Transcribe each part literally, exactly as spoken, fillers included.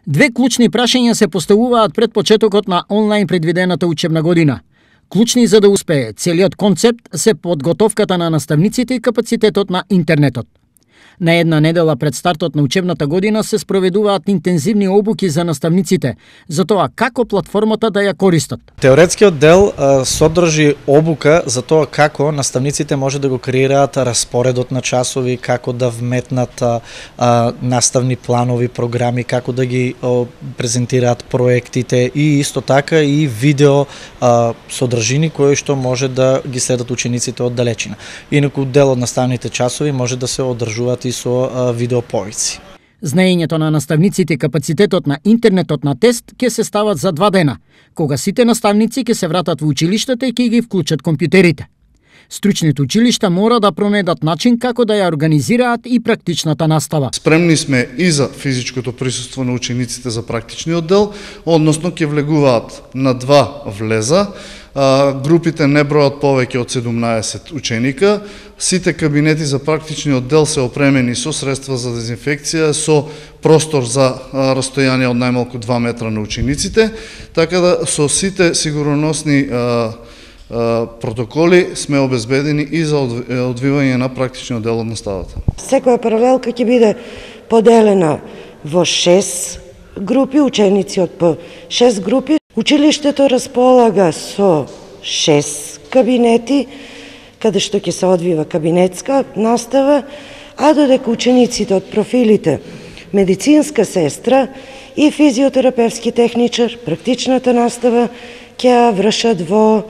Две клучни прашања се поставуваат пред почетокот на онлайн предвидената учебна година. Клучни за да успее целиот концепт се подготовката на наставниците и капацитетот на интернетот. На една недела пред стартот на учебната година се спроведуваат интензивни обуки за наставниците за тоа како платформата да ја користат. Теоретскиот дел а, содржи обука за тоа како наставниците може да го креираат распоредот на часови, како да вметнат а, а, наставни планови, програми, како да ги а, презентираат проектите и исто така и видео а, содржини кои што може да ги следат учениците од далечина. Инаку дел од наставните часови може да се одржуваат и со видеоповици. Знаењето на наставниците и капацитетот на интернетот на тест ќе се стават за два дена, кога сите наставници ќе се вратат во училиштата и ќе ги вклучат компјутерите. Стручните училишта мора да пронајдат начин како да ја организираат и практичната настава. Спремни сме и за физичкото присуство на учениците за практичниот дел, односно ќе влегуваат на два влеза. Групите не бројат повеќе од седумнаесет ученика. Сите кабинети за практичниот дел се опремени со средства за дезинфекција, со простор за растојание од најмалку два метра на учениците, така да со сите сигурносни протоколи сме обезбедени и за одвивање на практичниот дел од наставата. Секоја паралелка ќе биде поделена во шест групи, ученици од по шест групи. Училиштето располага со шест кабинети, каде што ќе се одвива кабинетска настава, а додека учениците од профилите медицинска сестра и физиотерапевски техничар, практичната настава ќе ја вршат во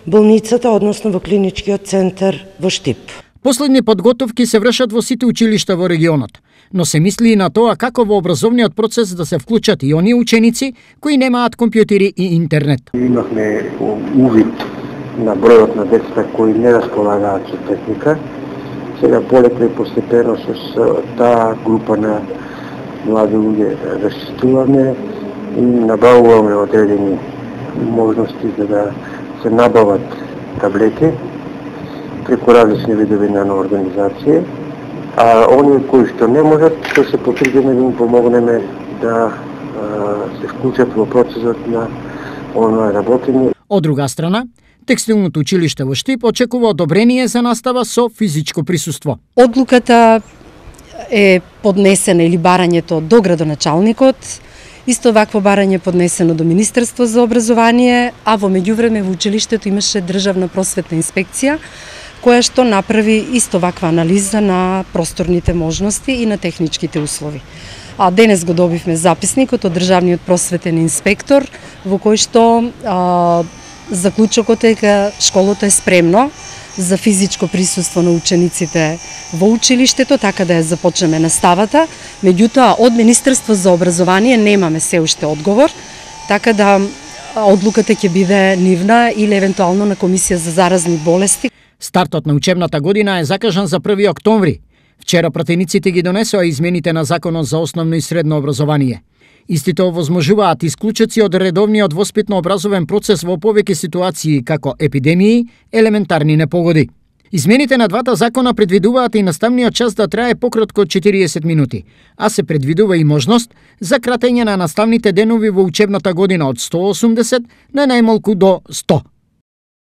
болницата, односно во клиничкиот центар во Штип. Последни подготовки се вршат во сите училишта во регионот, но се мисли и на тоа како во образовниот процес да се вклучат и оние ученици кои немаат компјутери и интернет. Имавме увид на бројот на децата кои не располагаат со техника. Сега полека и постепено со таа група на млади луѓе расчистуваме и набавуваме одредени можности за да се набават таблети преку различни видови на организација, а оние кои што не можат, што се потрудиме да им помогнеме да а, се вклучат во процесот на онлайн работење. Од друга страна, Текстилното училиште во Штип очекува одобрение за настава со физичко присуство. Одлуката е поднесена или барањето до градоначалникот, исто вакво барање поднесено до Министерство за образование, а во меѓувреме во училиштето имаше државна просветна инспекција, која што направи исто ваква анализа на просторните можности и на техничките услови. А денес го добивме записникот од државниот просветен инспектор, во кој што а, заклучокот е дека школото е спремно за физичко присуство на учениците во училиштето, така да ја започнеме наставата. Меѓутоа, од Министерство за образование немаме се уште одговор, така да одлуката ќе биде нивна или евентуално на Комисија за заразни болести. Стартот на учебната година е закажан за први октомври. Вчера пратениците ги донесоа измените на Законот за основно и средно образование. Истите овозможуваат исклучоци од редовниот воспитно-образовен процес во повеќе ситуации како епидемии, елементарни непогоди. Измените на двата закона предвидуваат и наставниот час да трае пократко од четириесет минути, а се предвидува и можност за кратење на наставните денови во учебната година од сто осумдесет на најмалку до сто.